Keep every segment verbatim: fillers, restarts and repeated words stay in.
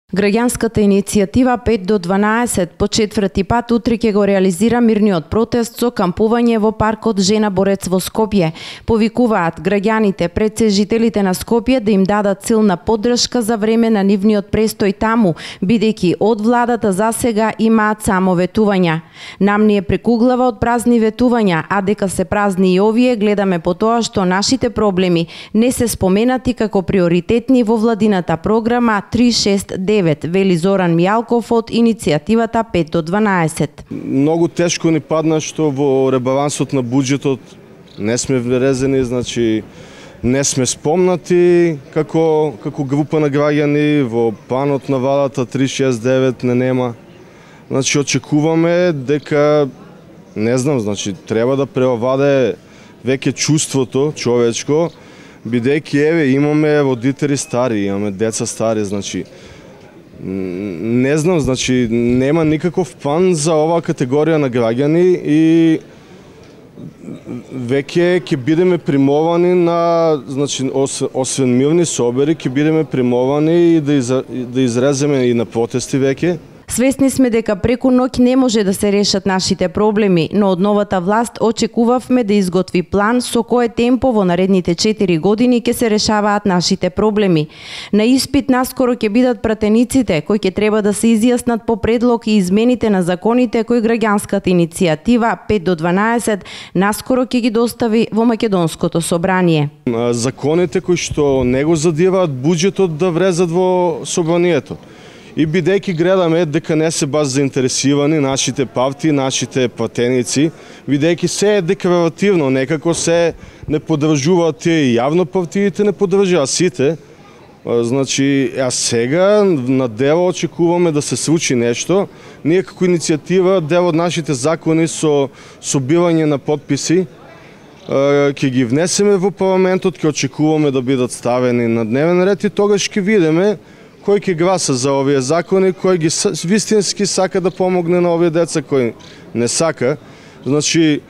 Граѓанската иницијатива пет до дванаесет по четврти пат утре ќе го реализира мирниот протест со кампување во паркот Жена Борец во Скопје. Повикуваат граѓаните пред се жителите на Скопје да им дадат силна поддршка за време на нивниот престој таму, бидејќи од владата засега имаат само ветувања. Нам ни е прекуглава од празни ветувања, а дека се празни и овие, гледаме по тоа што нашите проблеми не се споменати како приоритетни во владината програма три шест девет, вели Зоран Мијалков од иницијативата пет до дванаесет. Многу тешко ни падна што во ребалансот на буџетот не сме врезени, значи не сме спомнати како како група на граѓани во планот на владата три шест девет не нема. Значи очекуваме дека не знам, значи треба да преовладее веќе чувството човечко, бидејќи еве имаме родители стари, имаме деца стари, значи не знам, значи нема никаков план за оваа категорија на граѓани и веќе ќе бидеме примовани на, значи освен мирни собери, ќе бидеме примовани и да, из, да изреземе и на протести веќе. Свесни сме дека преку ноќ не може да се решат нашите проблеми, но од новата власт очекувавме да изготви план со кое темпо во наредните четири години ќе се решаваат нашите проблеми. На испит наскоро ќе бидат пратениците кои ќе треба да се изјаснат по предлог и измените на законите кои граѓанската иницијатива пет до дванаесет наскоро ќе ги достави во Македонското собрание. Законите кои што не го задеваат буџетот да влезат во собранието. И бидејќи гледаме дека не се баш заинтересирани нашите партии, нашите пратеници, бидејќи се е декларативно, некако се не поддржуваат тие јавно партиите, не поддржуваат сите. Значи, а сега на дело очекуваме да се случи нешто. Ние како иницијатива, дел од нашите закони со собирање на подписи, ќе ги внесеме во парламентот, ќе очекуваме да бидат ставени на дневен ред и тогаш ќе видиме кој ќе гласа за овие закони, кој ги вистински сака да помогне на овие деца, кој не сака. Значи,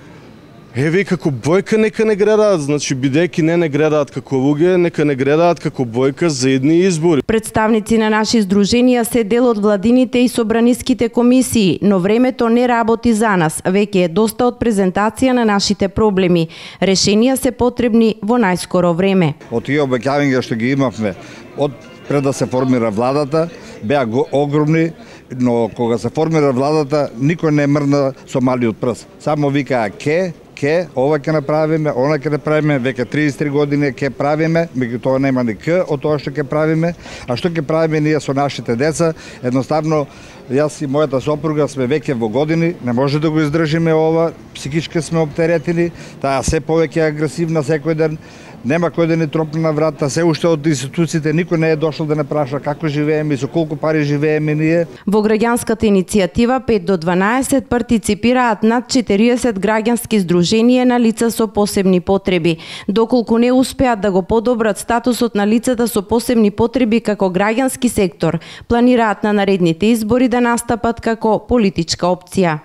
еве како бојка нека не гледаат, значи бидејќи не не гледаат како луѓе, нека не гледаат како бојка за едни избори. Представници на наши здруженија се дел од владините и собраниските комисии, но времето не работи за нас. Веќе е доста од презентација на нашите проблеми. Решенија се потребни во најскоро време. Од тие обеќавања што ги имавме од пред да се формира владата, беа огромни, но кога се формира владата, никој не мрна со малиот прст. Само викаа ке, ке, ова ќе направиме, она ќе направиме, веќе триесет и три години ќе правиме, меѓутоа нема ни к од тоа што ќе правиме, а што ќе правиме ние со нашите деца, едноставно јас и мојата сопруга сме веќе во години, не може да го издржиме ова, психички сме оптеретени, таа се повеќе агресивна секој ден. Нема кој да ни тропне на врата, се уште од институциите никој не е дошол да не праша како живееме и со колку пари живееме ние. Во граѓанската иницијатива пет до дванаесет партиципираат над четириесет граѓански здруженија на лица со посебни потреби. Доколку не успеат да го подобрат статусот на лицата со посебни потреби како граѓански сектор, планираат на наредните избори да настапат како политичка опција.